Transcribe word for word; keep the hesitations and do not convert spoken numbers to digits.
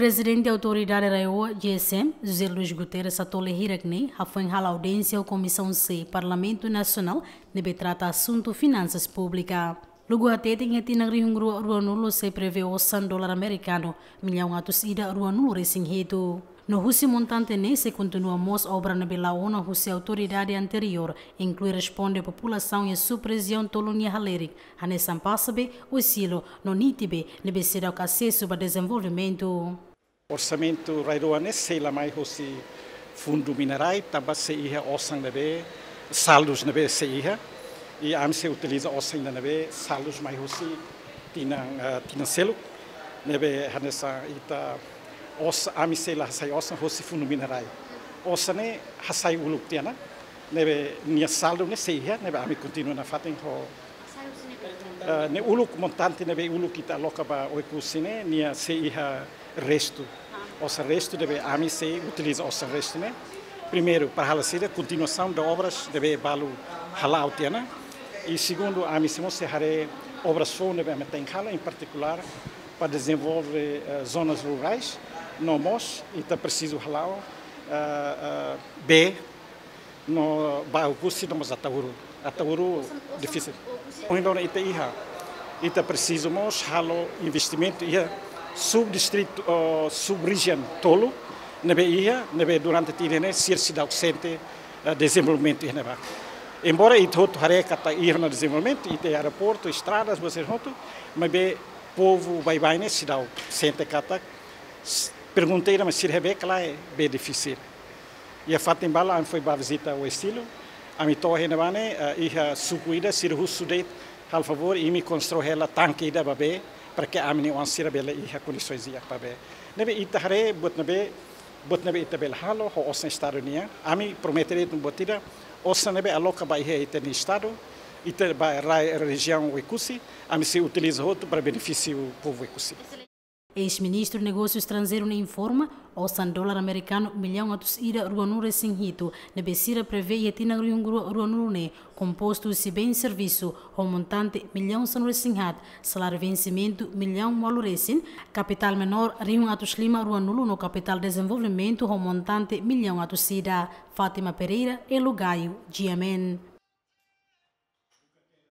Prezidente Autoridade RAEOA, G S M, José Luís Guterres, atole hirak ne'e, hafoin hala'o audiénsia ho Komisaun C, Parlamentu Nasionál, ne'ebé trata asuntu finansas públika. Lugu hateten iha tinan rihun rua ruanulu sei prevee osan dolar amerikanu millaun atus ida ruanulu resin hitu. No husi montante ne'e sei kontinua mós obra ne'ebé la'o ona husi autoridade anteriór, inklui responde populasaun iha sub-rejiaun tolu nia halerik, hanesan Passabe, Oesilo, no Nitibe, ne'ebé seidauk asesu ba dezenvolvimentu. Orsamentu RAEOA ne'e sei la mai hosi fundu minerál, tanba sei iha osan ne'ebé, saldus ne'ebé sei iha, i ami sei utiliza osan ida ne'ebé saldus mai hosi tinan, eh, tinan seluk, ne'ebé hanesan ita os-, ami sei la hasai osan hosi fundu minerál. Osan ne'e hasai uluk tiha ona, ne'ebé nia saldu ne'e sei iha, ne'ebé ami kontinua nafatin ho, eh, ne'e uluk montante ne'ebé uluk ita aloka ba Oekusi ne'e, nia sei iha restu. Osan restu ne'ebé ami sei utiliza osan restu ne'e. Primeiru, para halo saida, kontinuasaun de obras ne'ebé balu hala'o tiha ona. I segundu, ami sei mós sei haree obras foun ne'ebé ami tenke halo, em particular, para dezenvolve, eh, zonas rurais, no mós, ita presiza hala'o, eh, eh, bee, no ba Oekusi no mós Ataúru. Ataúru difisil. Ohin loron ita iha, ita presiza mós halo investimentu iha subdistritu, oh, sub-rejiaun tolu, ne'ebé iha, ne'ebé durante tinan ne'e sira seidauk sente, eh, dezenvolvimentu iha ne'ebá. Embora ita hotu haree katak iha ona dezenvolvimentu, ita iha aeroportu, estradas, buat sira hotu, maibé povu baibain ne'e seidauk sente katak, s-, pergunta ida mak sira haree katak bee difisil. Iha fatin balu ami foin ba vizita Oesilo, ami to'o iha ne'ebá ne'e, eh, iha suku ida sira husu de'it, halo favór, imi konstrui hela tanke ida ba bee, para ke ami-nia oan sira bele iha kondisoens di'ak ba bee. Ne'ebé ita haree buat ne'ebé, buat ne'ebé ita bele halo ho osan Estadu nian. Ami promete de'it buat ida, osan ne'ebé aloka ba iha ita-nia Estadu, ita ba RAEOA rejiaun Oekusi, ami sei utiliza hotu para benefísiu povu Oekusi. Eis-Ministru Negósiu Estranjeiru ne'e informa, osan dolar amerikanu millaun atus ida ruanulu resin hitu, ne'ebé sira prevee iha tinan rihun rua ruanulu ne'e, kompostu husi bens servisu ho montante millaun sanulu resin haat, saláriu vensimentu millaun ualu resin, kapitál menór rihun atus lima ruanulu no kapitál dezenvolvimentu ho montante millaun atus ida. Fátima Pereira, Elo Gaio, G M N.